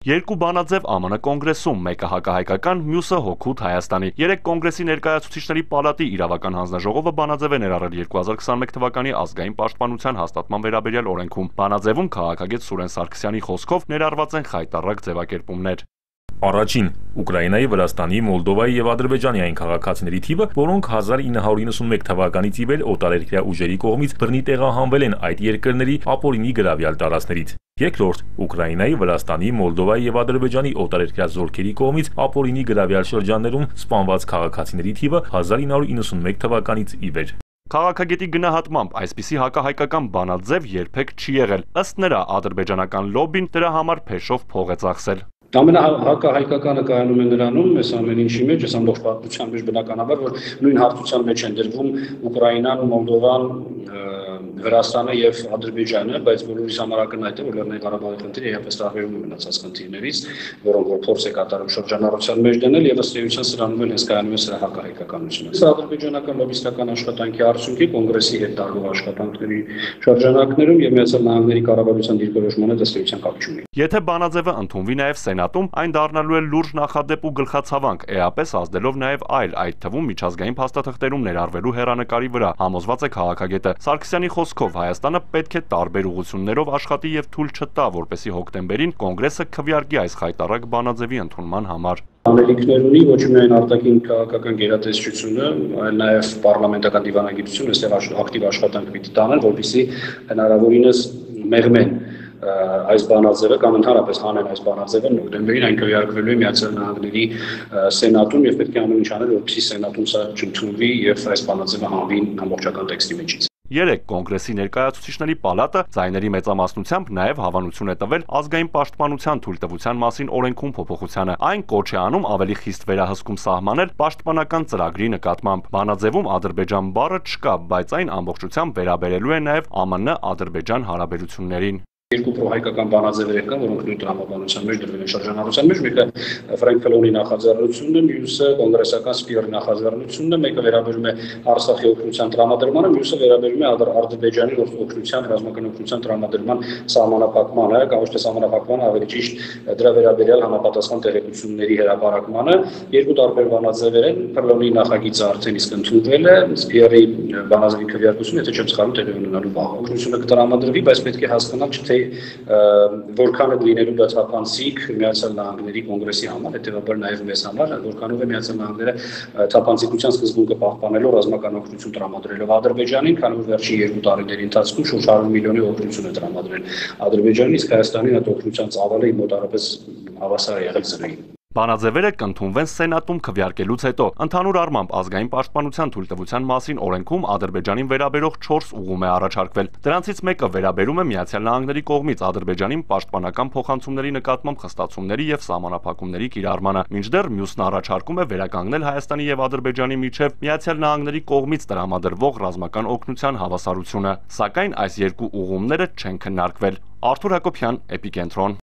Երկու բանաձև ԱՄՆ կոնգրեսում, մեկը հակահայկական, մյուսը հօգուտ Հայաստանի։ Երեք կոնգրեսի ներկայացուցիչների պալատի իրավական հանձնաժողովը բանաձև է ներառել 2021 թվականի ազգային պաշտպանության հաստատման վերաբերյալ օրենքում։ Բանաձևում քաղաքագետ Սուրեն Սարգսյանի խոսքով ներառված են խայտառակ ձևակերպումներ։ Առաջին Ուկրաինայի, Վրաստանի, Մոլդովայի եւ Ադրբեջանի այն քաղաքացիների թիվը, որոնք 1991 թվականից ի վեր օտարերկրյա ուժերի կողմից բռնի տեղահանվել են այդ երկրների ապօրինի գրավյալ տարածքներից։ Երկրորդ Ուկրաինայի, Վրաստանի, Մոլդովայի եւ Ադրբեջանի օտարերկրյա զորքերի կողմից ապօրինի գրավյալ շրջաններում սպանված քաղաքացիների թիվը 1991 թվականից ի վեր։ Քաղաքագետի գնահատմամբ այսպիսի հակահայկական բանաձև երբեք չի եղել։ Ըստ նրա, ադրբեջանական լոբին դրա համար փեշով փող է ծախսել։ Ամենահակահայկականը կայանում է նրանում, այս ամեն ինչի մեջ, այս ամբողջ պատմության մեջ բնականաբար, որ նույն հարթության մեջ են դրվում Ուկրաինան, Մոլդովան, Վրաստանը եւ Ադրբեջանը, բայց բոլորիս համար ակնհայտ է, որ Լեռնային Ղարաբաղի խնդիրը իհարկե տարբերում է մնացած խնդիրներից, որոնք որ փորձ է կատարում շրջանառության մեջ դնել եւ ըստ էության սրանում են հենց կայանում է սրա հակահայկականությունը։ Սա ադրբեջանական լոբիստական աշխատանքի արդյունքի կոնգրեսի հետ տարվող աշխատանքների շրջանակներում եւ Միացյալ Նահանգների կառավարության դիրքորոշմանը ըստ էության կապ չունի։ Եթե բանաձևը ընդունվի նաեւ Սենատում, այն դառնալու է լուրջ նախադեպ ու գլխացավանք, էապես ազդելով նաեւ այլ, այդ թվում միջազգային փաստաթղթերում ներառվելու հեռանկարի վրա, համոզված է քաղաքագետը։ Սարգսյանի խոսքով Հայաստանը պետք է տարբեր ուղղություններով աշխատի եւ թույլ չտա, որպեսզի հոկտեմբերին կոնգրեսը քվեարկի այս խայտառակ բանաձևի ընդունման համար։ Անելիքներ ունի ոչ միայն արտաքին քաղաքական գերատեսչությունը, այլ նաև պարլամենտական դիվանագիտությունը, այստեղ ակտիվ աշխատանք պիտի տանեն, որպեսզի հնարավորինս մեղմեն այս բանաձևը կամ ընդհանրապես հանեն այս բանաձևը նոյեմբերին այն քվեարկվելու է Միացյալ Նահանգների Սենատում եւ պետք է ամեն ինչ անել, որպեսզի Սենատում սա չընդունվի եւ այս բանաձևը հանվի ամբողջական տեքստի մեջից։ Երեք կոնգրեսի ներկայացուցիչների պալատը ձայների մեծամասնությամբ նաև հավանություն է տվել ազգային պաշտպանության թույլտվության մասին օրենքում փոփոխությանը։ Այն կոչ է անում ավելի խիստ վերահսկում սահմանել պաշտպանական ծրագրի նկատմամբ։ Բանաձևում Ադրբեջան բառը չկա, բայց այն ամբողջությամբ վերաբերելու է նաև ԱՄՆ-Ադրբեջան հարաբերություններին։ Երկու պրոհայկական բանաձևեր կան, որոնք նույն տրամաբանության մեջ դրվել են շրջանառության մեջ, մեկը Ֆրանկ Ֆելոնի նախաձեռնությունն է, մյուսը կոնգրեսական Սպիրի նախաձեռնությունն է, մեկը վերաբերում է Արցախի օգնության տրամադրմանը, մյուսը վերաբերում է Ադրբեջանի օգնության, ռազմական օգնության տրամադրման սահմանափակմանը, կամ ոչ թե սահմանափակմանը, ավելի ճիշտ դրա վերաբերյալ համապատասխան տեղեկությունների հրապարակմանը։ Երկու տարբեր բանաձևեր են, Ֆելոնի նախագիծը արդեն իսկ ընդունվել է, Սպիրի բանաձևի քվեարկությունը, եթե չեմ սխալվում, տեղի ունենալու վաղ օգնությունը կտրամադրվի, բայց պետք է հասկանալ, թե որքան է լինելու դա թափանցիկ Միացյալ Նահանգների կոնգրեսի համար, հետեւաբար նաև մեզ համար, որքանով է Միացյալ Նահանգները թափանցիկության սկզբունքը պահպանելով ռազմական օգնություն տրամադրելով Ադրբեջանին, քանի որ վերջին 2 տարիների ընթացքում շուրջ 100 միլիոնի օգնություն է տրամադրել Ադրբեջանին, իսկ Հայաստանին այդ օգնության ծավալը մոտավորապես հավասար է եղել զրոյին։ Բանաձևերը կընդունվեն Սենատում քվեարկելուց հետո։ Ընդհանուր առմամբ ազգային պաշտպանության թույլտվության մասին օրենքում Ադրբեջանին վերաբերող 4 ուղում է առաջարկվել։ Դրանցից մեկը վերաբերում է Միացյալ Նահանգների կողմից Ադրբեջանին պաշտպանական փոխանցումների նկատմամբ խստացումների եւ սահմանափակումների կիրառմանը, մինչդեռ մյուսն առաջարկում է վերականգնել Հայաստանի եւ Ադրբեջանի միջև Միացյալ Նահանգների կողմից տրամադրվող ռազմական օգնության հավասարությունը։ Սակայն այս երկու ուղումները չեն քննարկվել։ Արթուր Հակոբյան, Էպիկենտրոն։